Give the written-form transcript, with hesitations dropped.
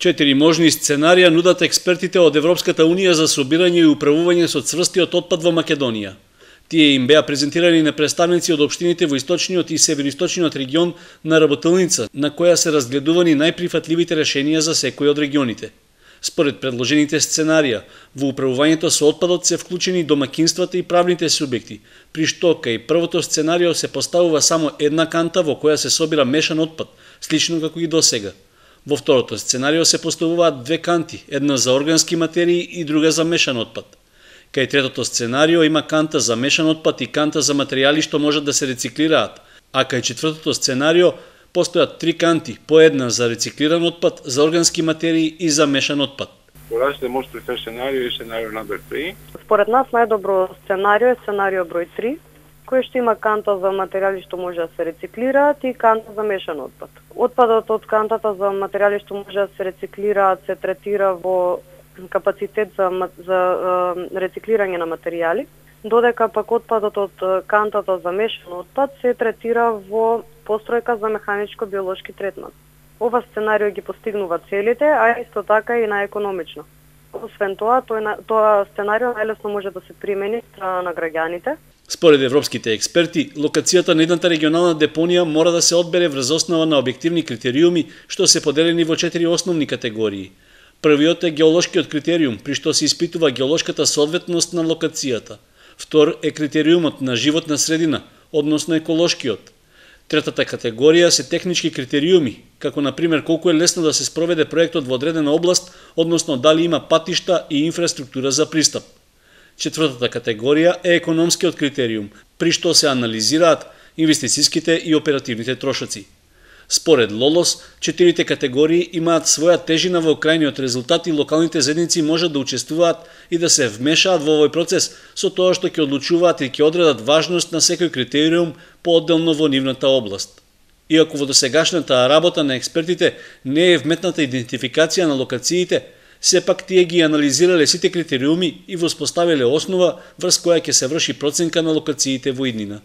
4 можни сценарија нудат експертите од Европската Унија за собирање и управување со цврстиот отпад во Македонија. Тие им беа презентирани на представници од општините во источниот и североисточниот регион на работилница, на која се разгледувани најприфатливите решенија за секој од регионите. Според предложените сценарија, во управувањето со отпадот се вклучени домакинствата и правните субјекти, при што кај првото сценарио се поставува само една канта во која се собира мешан отпад, слично како и досега. Во второто сценарио се поставуваат две канти, една за органски материи и друга за мешан отпад. Кај третото сценарио има канта за мешан отпад и канта за материјали што можат да се рециклираат, а кај четвртото сценарио постојат три канти, по една за рециклиран отпад, за органски материи и за мешан отпад. Различите може префер сценарио и сценарио номер 3. Според нас најдобро сценарио е сценарио број 3, кој што има канта за материјали што може да се рециклираат и канта за мешан отпад. Отпадот од кантата за материјали што може да се рециклираат се третира во капацитет за рециклирање на материјали, додека пак отпадот од кантата за мешан отпад се третира во постројка за механичко-биолошки третман. Ова сценарио ги постигнува целите, а исто така и најекономично. Освен тоа, тоа сценарио најлесно може да се примени од страна на граѓаните. Според европските експерти, локацијата на едната регионална депонија мора да се одбере врз основа на објективни критериуми, што се поделени во 4 основни категории. Првиот е геолошкиот критериум, при што се испитува геолошката соодветност на локацијата. Втор е критериумот на животна средина, односно еколошкиот. Третата категорија се технички критериуми, како на пример колку е лесно да се спроведе проектот во одредена област, односно дали има патишта и инфраструктура за пристап. Четвртата категорија е економскиот критериум, при што се анализираат инвестициските и оперативните трошоци. Според ЛОЛОС, четирите категории имаат своја тежина во крајниот резултат и локалните заедници можат да учествуваат и да се вмешаат во овој процес со тоа што ќе одлучуваат и ќе одредат важност на секој критериум поодделно во нивната област. Иако во досегашната работа на експертите не е вметната идентификација на локациите, сепак тие ги анализирале сите критериуми и воспоставиле основа врз која ќе се врши проценка на локациите во иднина.